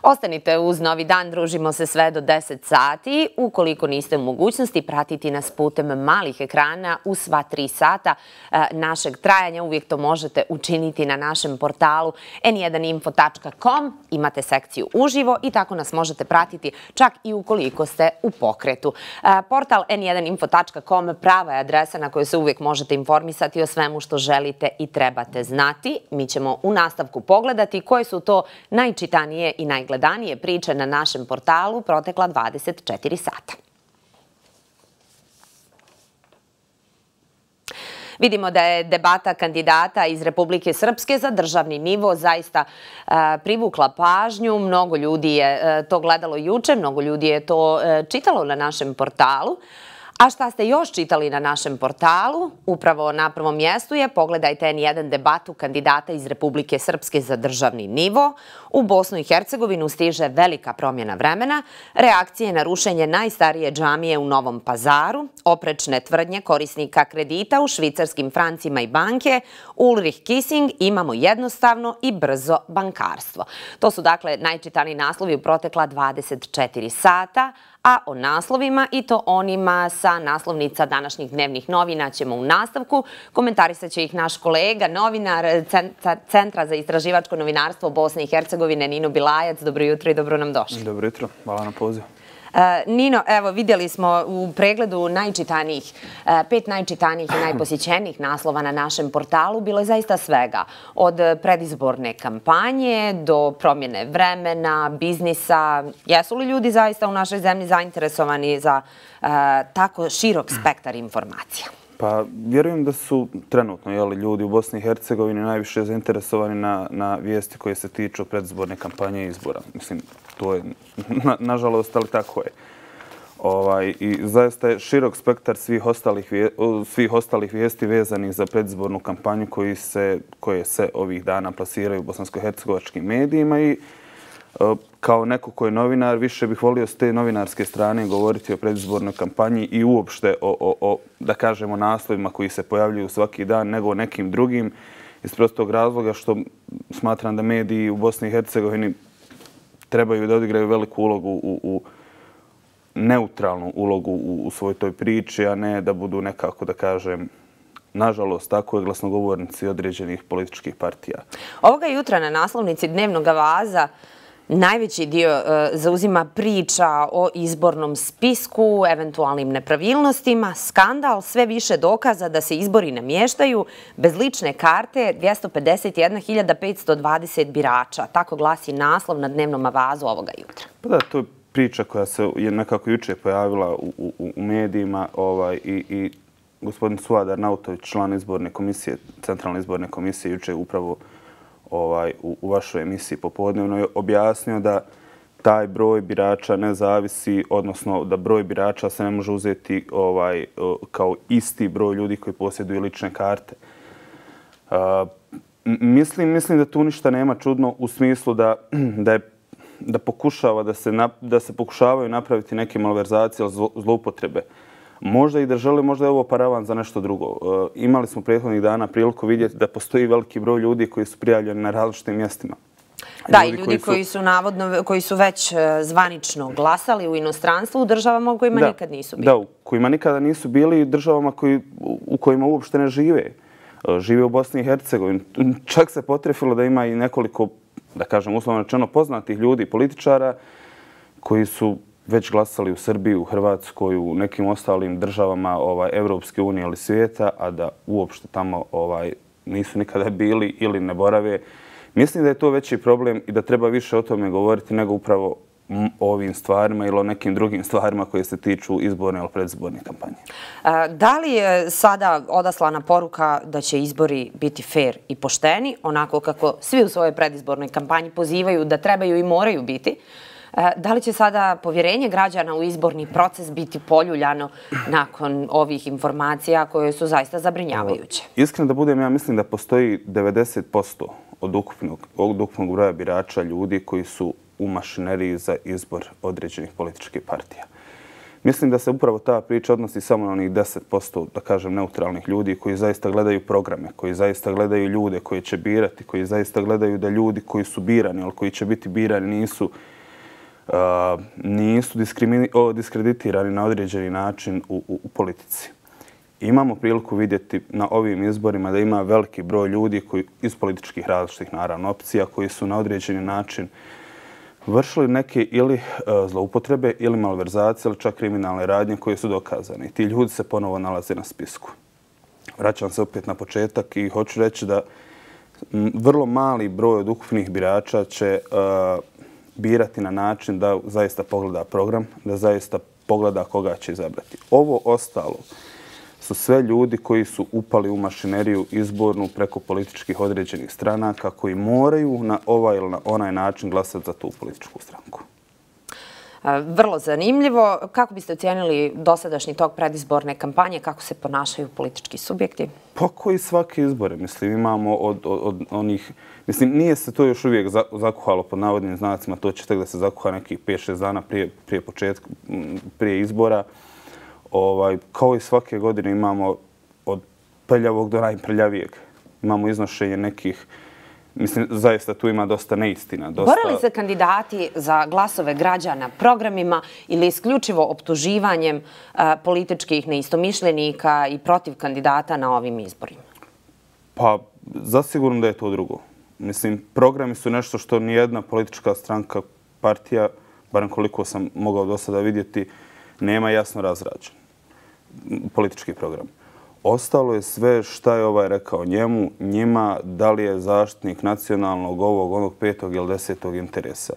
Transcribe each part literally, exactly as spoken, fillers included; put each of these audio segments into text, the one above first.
Ostanite uz Novi dan, družimo se sve do deset sati. Ukoliko niste u mogućnosti pratiti nas putem malih ekrana u sva tri sata našeg trajanja, uvijek to možete učiniti na našem portalu en jedan info tačka com. Imate sekciju uživo i tako nas možete pratiti čak i ukoliko ste u pokretu. Portal en jedan info tačka com prava je adresa na kojoj se uvijek možete informisati o svemu što želite i trebate znati. Mi ćemo u nastavku pogledati koje su to najčitanije i najgledanije priče na našem portalu protekla dvadeset četiri sata. Vidimo da je debata kandidata iz Republike Srpske za državni nivo zaista privukla pažnju. Mnogo ljudi je to gledalo juče, mnogo ljudi je to čitalo na našem portalu. A šta ste još čitali na našem portalu? Upravo na prvom mjestu je pogledajte en jedan debatu kandidata iz Republike Srpske za državni nivo. U Bosnu i Hercegovinu stiže velika promjena vremena, reakcije na rušenje najstarije džamije u Novom Pazaru, oprečne tvrdnje korisnika kredita u švicarskim francima i banke, Ulrich Kissing, imamo jednostavno i brzo bankarstvo. To su dakle najčitaniji naslovi u protekla dvadeset četiri sata, a o naslovima i to onima sa naslovnica današnjih dnevnih novina ćemo u nastavku. Komentarisat će ih naš kolega, novinar Centra za istraživačko novinarstvo Bosne i Hercegovine, Nino Bilajac. Dobro jutro i dobro nam došli. Dobro jutro, hvala na pozivu. Nino, evo vidjeli smo u pregledu najčitanijih, pet najčitanijih i najposjećenijih naslova na našem portalu. Bilo je zaista svega. Od predizborne kampanje do promjene vremena, biznisa. Jesu li ljudi zaista u našoj zemlji zainteresovani za tako širok spektar informacija? Pa vjerujem da su trenutno ljudi u Bosni i Hercegovini najviše zainteresovani na vijesti koje se tiču predizborne kampanje i izbora. Mislim, to je nažalost, ali tako je. I zaista je širok spektar svih ostalih vijesti vezanih za predizbornu kampanju koje se ovih dana plasiraju u bosansko-hercegovačkim medijima i kao neko ko je novinar, više bih volio s te novinarske strane govoriti o predizbornoj kampanji i uopšte o, da kažemo, naslovima koji se pojavljuju svaki dan, nego o nekim drugim, iz prostog razloga što smatram da mediji u Bosni i Hercegovini trebaju da odigraju veliku ulogu, u neutralnu ulogu u svoj toj priči, a ne da budu nekako, da kažem, nažalost, tako je, glasnogovornici određenih političkih partija. Ovoga jutra na naslovnici Dnevnog vaza najveći dio zauzima priča o izbornom spisku, eventualnim nepravilnostima, skandal, sve više dokaza da se izbori namještaju, bez lične karte dvjesto pedeset jedna hiljada petsto dvadeset birača. Tako glasi naslov na Dnevnom vazu ovoga jutra. Pa da, to je priča koja se je nekako juče pojavila u medijima i gospodin Suadar Nautović, član izborne komisije, centralne izborne komisije, juče upravo u vašoj emisiji popodnevno je objasnio da taj broj birača ne zavisi, odnosno da broj birača se ne može uzeti kao isti broj ljudi koji posjeduju lične karte. Mislim da tu ništa nema čudno u smislu da pokušava, da se pokušavaju napraviti neke malverzacije ili zloupotrebe. Možda i da žele, možda je ovo paravan za nešto drugo. Imali smo prethodnih dana priliku vidjeti da postoji veliki broj ljudi koji su prijavljeni na različitim mjestima. Da, i ljudi koji su navodno, koji su već zvanično glasali u inostranstvu u državama u kojima nikad nisu bili. Da, u kojima nikada nisu bili i državama u kojima uopšte ne žive. Žive u Bosni i Hercegovini. Čak se potrefilo da ima i nekoliko, da kažem uslovno rečeno, poznatih ljudi, političara koji su već glasali u Srbiji, u Hrvatskoj, u nekim ostalim državama Evropske unije ili svijeta, a da uopšte tamo nisu nikada bili ili ne borave. Mislim da je to veći problem i da treba više o tome govoriti nego upravo o ovim stvarima ili o nekim drugim stvarima koje se tiču izborne ili predizborne kampanje. Da li je sada odaslana poruka da će izbori biti fair i pošteni, onako kako svi u svojoj predizbornoj kampanji pozivaju da trebaju i moraju biti? Da li će sada povjerenje građana u izborni proces biti poljuljano nakon ovih informacija koje su zaista zabrinjavajuće? Iskreno da budem, ja mislim da postoji devedeset posto od ukupnog broja birača ljudi koji su u mašineriji za izbor određenih političkih partija. Mislim da se upravo ta priča odnosi samo na onih deset posto, da kažem, neutralnih ljudi koji zaista gledaju programe, koji zaista gledaju ljude koji će birati, koji zaista gledaju da ljudi koji su birani, ali koji će biti birani nisu nisu diskreditirani na određeni način u, u, u politici. Imamo priliku vidjeti na ovim izborima da ima veliki broj ljudi koji iz političkih različitih naravno opcija koji su na određeni način vršili neke ili zloupotrebe ili malverzacije ili čak kriminalne radnje koje su dokazane. I ti ljudi se ponovo nalaze na spisku. Vraćam se opet na početak i hoću reći da vrlo mali broj od ukupnih birača će uh, birati na način da zaista pogleda program, da zaista pogleda koga će izabrati. Ovo ostalo su sve ljudi koji su upali u mašineriju izbornu preko političkih određenih stranaka koji moraju na ovaj ili na onaj način glasati za tu političku stranku. Vrlo zanimljivo. Kako biste ocijenili dosadašnji tok predizborne kampanje? Kako se ponašaju politički subjekti? Pa koji svaki izbore. Mislim, imamo od, od, od onih... Mislim, nije se to još uvijek zakuhalo pod navodnim znacima. To će tek da se zakuha nekih pet šest dana prije, prije početka, prije izbora. Ovaj, kao i svake godine imamo od prljavog do najprljavijeg. Imamo iznošenje nekih... Mislim, zaista tu ima dosta neistina. Dosta... Bore li se kandidati za glasove građana programima ili isključivo optuživanjem uh, političkih neistomišljenika i protiv kandidata na ovim izborima? Pa, zasigurno da je to drugo. Mislim, programi su nešto što nijedna politička stranka, partija, barem koliko sam mogao do sada vidjeti, nema jasno razrađen politički program. Ostalo je sve šta je ovaj rekao njemu, njima, da li je zaštitnik nacionalnog ovog, onog petog ili desetog interesa.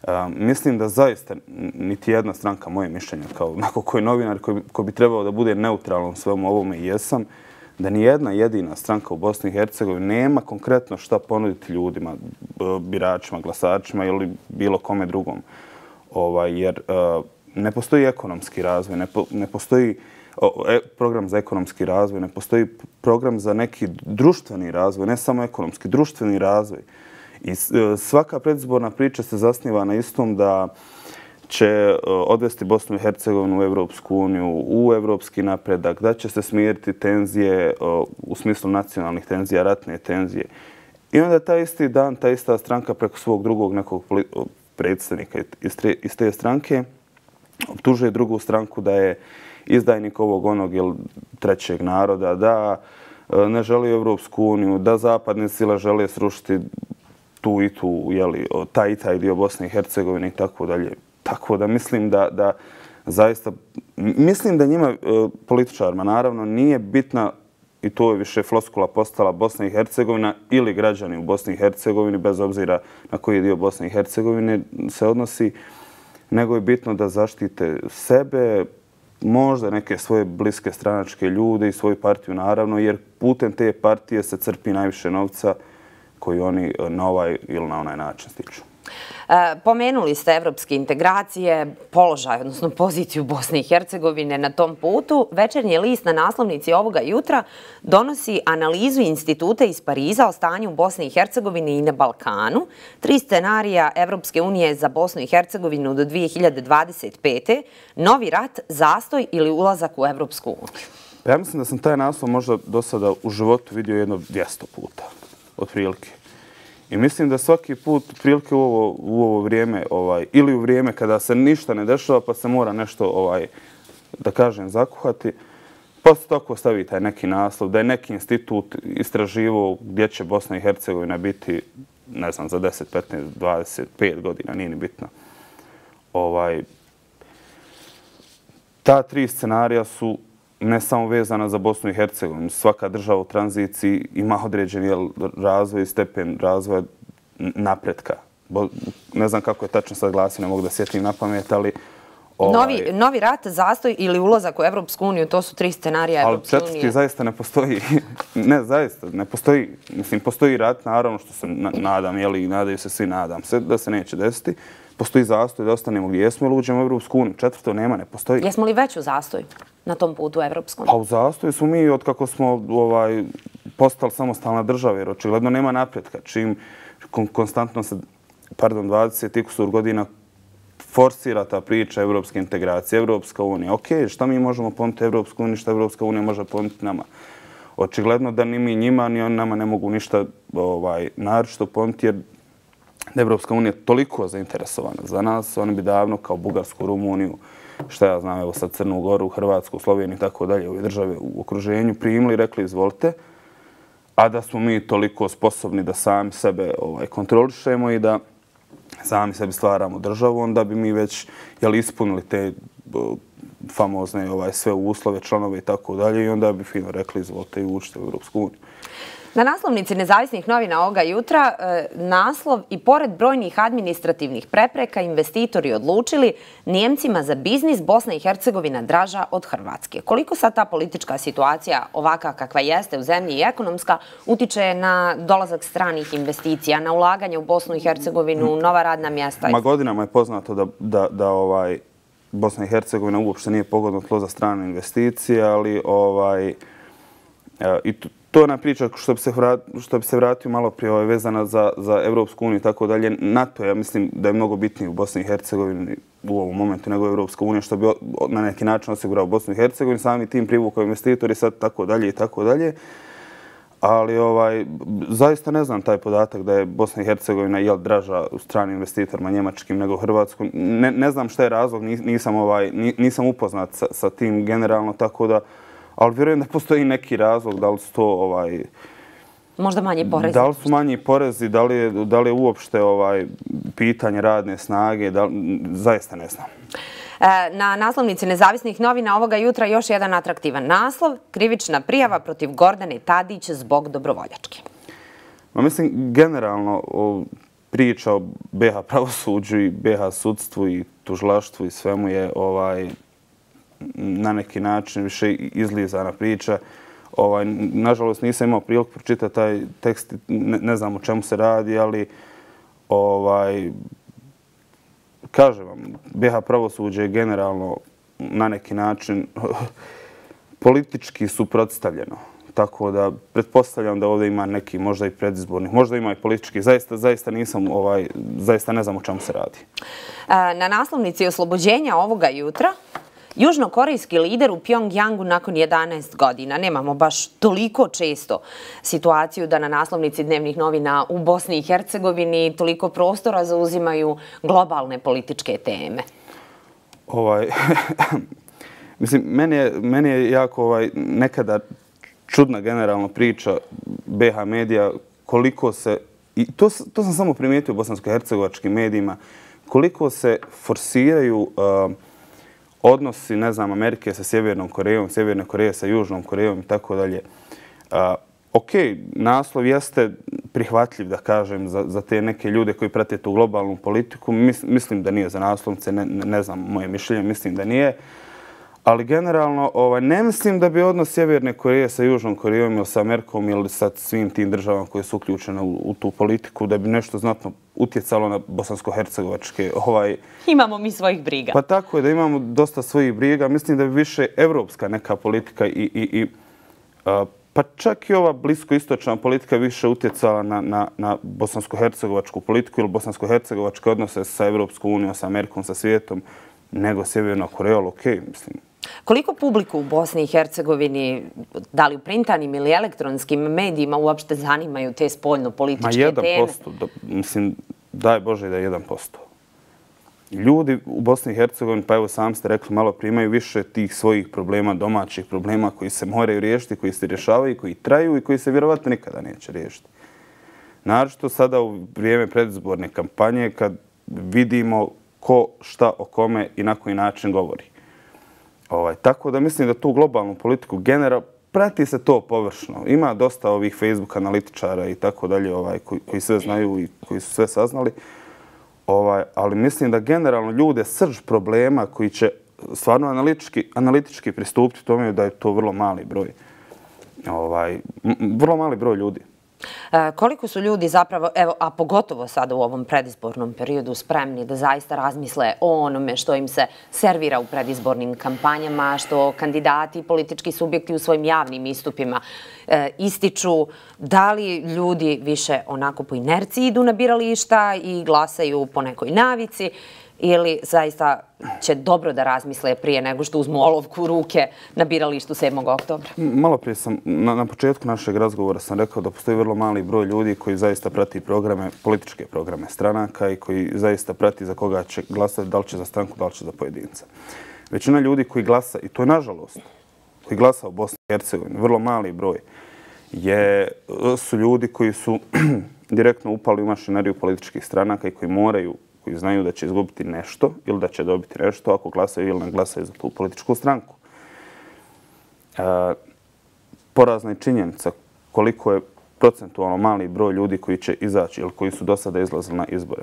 Um, mislim da zaista niti jedna stranka, moje mišljenje, kao neko koji je novinar, koji, koji bi trebao da bude neutralan svemu ovome i jesam, da ni jedna jedina stranka u Bosni i Hercegovini nema konkretno šta ponuditi ljudima, biračima, glasačima ili bilo kome drugom. Ovaj, jer uh, ne postoji ekonomski razvoj, ne, po, ne postoji program za ekonomski razvoj, ne postoji program za neki društveni razvoj, ne samo ekonomski, društveni razvoj. I svaka predizborna priča se zasniva na istom da će odvesti Bosnu i Hercegovinu u Evropsku uniju, u evropski napredak, da će se smiriti tenzije u smislu nacionalnih tenzija, ratne tenzije. I onda taj isti dan, ta ista stranka preko svog drugog nekog predstavnika iz te stranke optužuje drugu stranku da je izdajnik ovog onog ili trećeg naroda, da ne želi Evropsku uniju, da zapadne sile žele srušiti tu i tu, jeli, taj i taj dio Bosne i Hercegovine i tako dalje. Tako da mislim da, da zaista, mislim da njima političarima naravno nije bitna, i to je više floskula postala, Bosna i Hercegovina ili građani u Bosni i Hercegovini, bez obzira na koji dio Bosne i Hercegovine se odnosi, nego je bitno da zaštite sebe, možda neke svoje bliske stranačke ljude i svoju partiju naravno, jer putem te partije se crpi najviše novca koji oni na ovaj ili na onaj način stiču. E, pomenuli ste evropske integracije, položaj, odnosno poziciju Bosne i Hercegovine na tom putu. Večernji list na naslovnici ovoga jutra donosi analizu instituta iz Pariza o stanju u Bosni i Hercegovini i na Balkanu. Tri scenarija Evropske unije za Bosnu i Hercegovinu do dvije hiljade dvadeset pete. Novi rat, zastoj ili ulazak u Evropsku uniju. Ja mislim da sam taj naslov možda do sada u životu vidio jedno dvjesto puta, otprilike. I mislim da svaki put, prilike u ovo, u ovo vrijeme, ovaj, ili u vrijeme kada se ništa ne dešava, pa se mora nešto, ovaj, da kažem, zakuhati, pa se tako stavi taj neki naslov, da je neki institut istraživao gdje će Bosna i Hercegovina biti, ne znam, za deset, petnaest, dvadeset pet godina, nije ni bitno. Ovaj, ta tri scenarija su ne samo vezana za Bosnu i Hercegovinu. Svaka država u tranziciji ima određeni razvoj i stepen razvoja napretka. Ne znam kako je tačno sad glasi, ne mogu da sjetim na pamet, ali... Ovaj... Novi, novi rat, zastoj ili ulazak u Evropsku uniju, to su tri scenarija Evropske unije. Ali četvrti zaista ne postoji. Ne, zaista, ne postoji. Mislim, postoji rat, naravno, što se nadam, jeli, nadaju se svi, nadam se da se neće desiti. Postoji zastoj da ostanemo gdje jesmo ili uđemo u Evropsku uniju. Četvrto nema, ne postoji. Jesmo li već u zastoj na tom putu u Evropskom? Pa u zastoju smo mi od kako smo ovaj, postali samostalna država, jer očigledno nema napretka. Čim kon, konstantno se, pardon, dvadeset i kusur godina forsira ta priča evropske integracije, Evropska unija. Ok, šta mi možemo ponuditi Evropsku uniju, šta Evropska unija može ponuditi nama? Očigledno da ni mi njima, ni oni nama ne mogu ništa ovaj, naročito ponuditi, jer da je Evropska unija toliko zainteresovana za nas, oni bi davno kao Bugarsku, Rumuniju, šta ja znam, evo sad Crnu Goru, Hrvatsku, Sloveniju i tako dalje, ove države u okruženju primili i rekli izvolite, a da smo mi toliko sposobni da sami sebe ovaj, kontrolišemo i da sami sebi stvaramo državu, onda bi mi već jeli, ispunili te uh, famozne ovaj, sve uslove, članove i tako dalje i onda bi fino rekli izvolite i učite u Evropsku uniju. Na naslovnici nezavisnih novina ovoga jutra naslov i pored brojnih administrativnih prepreka investitori odlučili Njemcima za biznis Bosna i Hercegovina draža od Hrvatske. Koliko sad ta politička situacija ovaka kakva jeste u zemlji i ekonomska utiče na dolazak stranih investicija, na ulaganje u Bosnu i Hercegovinu, nova radna mjesta? Ma godinama je poznato da, da, da ovaj, Bosna i Hercegovina uopšte nije pogodno tlo za strane investicije, ali ovaj, i tu, to je ona priča što bi se, vrat, što bi se vratio malo prije ovaj, vezana za, za Evropsku uniju i tako dalje. NATO, ja mislim da je mnogo bitniji u Bosni i Hercegovini u ovom momentu nego Evropska unija, što bi na neki način osigurao Bosnu i Hercegovini, sami tim privukao investitori, sad tako dalje i tako dalje. Ali ovaj, zaista ne znam taj podatak da je Bosna i Hercegovina jel, draža u stranim investitorima njemačkim nego Hrvatskom. Ne, ne znam šta je razlog, nisam, ovaj, nisam upoznat sa, sa tim generalno, tako da ali vjerujem da postoji neki razlog, da li su to ovaj, možda manji porezi. Da li su manji porezi, da li je, da li je uopšte ovaj, pitanje radne snage, da li, zaista ne znam. Na naslovnici nezavisnih novina ovoga jutra još jedan atraktivan naslov, krivična prijava protiv Gordane Tadić zbog dobrovoljačke. Ma mislim, generalno o, priča o B H pravosuđu i B H sudstvu i tužilaštvu i svemu je ovaj, na neki način više izlizana priča. Ovaj, nažalost, nisam imao priliku pročitati taj tekst, ne, ne znam o čemu se radi, ali ovaj, kažem vam, B H pravosuđe je generalno na neki način politički suprotstavljeno. Tako da pretpostavljam da ovdje ima neki možda i predizbornih, možda ima i politički. Zaista, zaista nisam, ovaj, zaista ne znam o čemu se radi. Na naslovnici oslobođenja ovoga jutra južnokorejski lider u Pjongjangu nakon jedanaest godina. Nemamo baš toliko često situaciju da na naslovnici dnevnih novina u Bosni i Hercegovini toliko prostora zauzimaju globalne političke teme. Ovaj, mislim, meni je, meni je jako ovaj, nekada čudna generalno priča B H medija koliko se, i to, to sam samo primijetio u bosansko-hercegovačkim medijima, koliko se forsiraju uh, odnosi, ne znam, Amerike sa Sjevernom Korejom, Sjeverne Koreje sa Južnom Korejom i tako dalje. Ok, naslov jeste prihvatljiv, da kažem, za, za te neke ljude koji prate tu globalnu politiku. Mis, mislim da nije za naslovnice, ne, ne znam moje mišljenje, mislim da nije. Ali generalno ovaj, ne mislim da bi odnos Sjeverne Koreje sa Južnom Korejom ili sa Amerikom ili sa svim tim državama koje su uključene u, u tu politiku da bi nešto znatno utjecalo na bosansko-hercegovačke. Ovaj... Imamo mi svojih briga. Pa tako je da imamo dosta svojih briga. Mislim da bi više evropska neka politika i, i, i a, pa čak i ova bliskoistočna politika više utjecala na, na, na bosansko-hercegovačku politiku ili bosansko-hercegovačke odnose sa Evropskom unijom, sa Amerikom, sa svijetom nego Sjeverna Koreja, ali okej, mislim. Koliko publiku u Bosni i Hercegovini, da li u printanim ili elektronskim medijima, uopšte zanimaju te spoljno-političke teme? Ma jedan posto, da, mislim, daj Bože da je jedan posto. Ljudi u Bosni i Hercegovini, pa evo sam ste rekli, malo primaju više tih svojih problema, domaćih problema koji se moraju riješiti, koji se rješavaju, koji traju i koji se vjerovatno nikada neće riješiti. Naročito sada u vrijeme predizborne kampanje, kad vidimo ko, šta, o kome i na koji način govori. Ovaj, tako da mislim da tu globalnu politiku general prati se to površno. Ima dosta ovih Facebook analitičara i tako dalje ovaj, koji, koji sve znaju i koji su sve saznali. Ovaj, ali mislim da generalno ljude srž problema koji će stvarno analitički, analitički pristupiti tome da je to vrlo mali broj. Ovaj, vrlo mali broj ljudi. Koliko su ljudi zapravo, evo, a pogotovo sada u ovom predizbornom periodu, spremni da zaista razmisle o onome što im se servira u predizbornim kampanjama, što kandidati i politički subjekti u svojim javnim istupima e, ističu, da li ljudi više onako po inerciji idu na birališta i glasaju po nekoj navici ili zaista će dobro da razmisle prije nego što uzmu olovku u ruke na biralištu sedmog oktobra? Malo prije sam, na, na početku našeg razgovora sam rekao da postoji vrlo mali broj ljudi koji zaista prati programe, političke programe stranaka i koji zaista prati za koga će glasati, da li će za stranku, da li će za pojedinca. Većina ljudi koji glasa, i to je nažalost, koji glasa u Bosni i Hercegovini, vrlo mali broj, je, su ljudi koji su direktno upali u mašineriju političkih stranaka i koji moraju, koji znaju da će izgubiti nešto ili da će dobiti nešto ako glasaju ili ne glasaju za tu političku stranku. E, porazna je činjenica koliko je procentualno mali broj ljudi koji će izaći ili koji su do sada izlazili na izbore.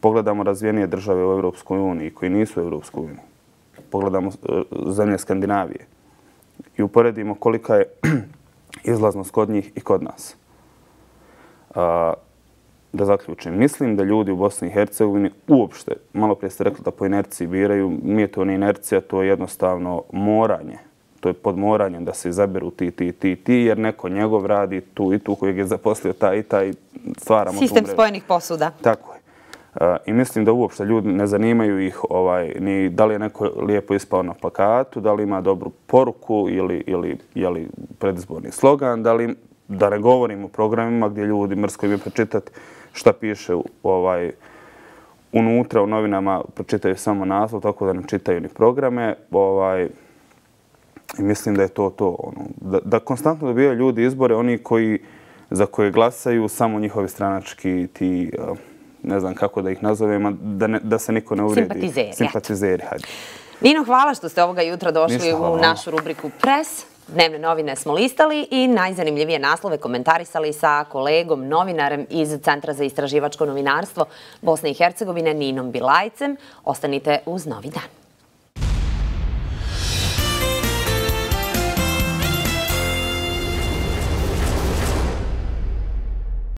Pogledamo razvijenije države u Europskoj uniji koji nisu u Europskoj uniji. Pogledamo zemlje Skandinavije i uporedimo kolika je izlaznost kod njih i kod nas. A, da zaključim, mislim da ljudi u Bosni i Hercegovini uopšte, malo prije ste rekli da po inerciji biraju, nije to ni inercija, to je jednostavno moranje. To je pod moranjem da se izaberu ti, ti, ti, ti, jer neko njegov radi tu i tu kojeg je zaposlio taj i taj, stvaramo tu mrežu. Sistem spojenih posuda. Tako je. Uh, I mislim da uopšte ljudi ne zanimaju ih ovaj, ni da li je neko lijepo ispao na plakatu, da li ima dobru poruku ili, ili je li predizborni slogan, da li, da ne govorim o programima gdje ljudi mrsko im je pročitati šta piše u, ovaj, unutra u novinama, pročitaju samo naslov, tako da ne čitaju ni programe. Ovaj, I mislim da je to to. Ono, da, da konstantno dobijaju ljudi izbore, oni koji, za koje glasaju samo njihovi stranački ti... Uh, ne znam kako da ih nazovem, da, ne, da se niko ne uvredi. Simpatizeri. Simpatizeri, hajde. Nino, hvala što ste ovoga jutra došli Ništa, u našu rubriku Pres. Dnevne novine smo listali i najzanimljivije naslove komentarisali sa kolegom, novinarem iz Centra za istraživačko novinarstvo Bosne i Hercegovine, Ninom Bilajcem. Ostanite uz Novi dan.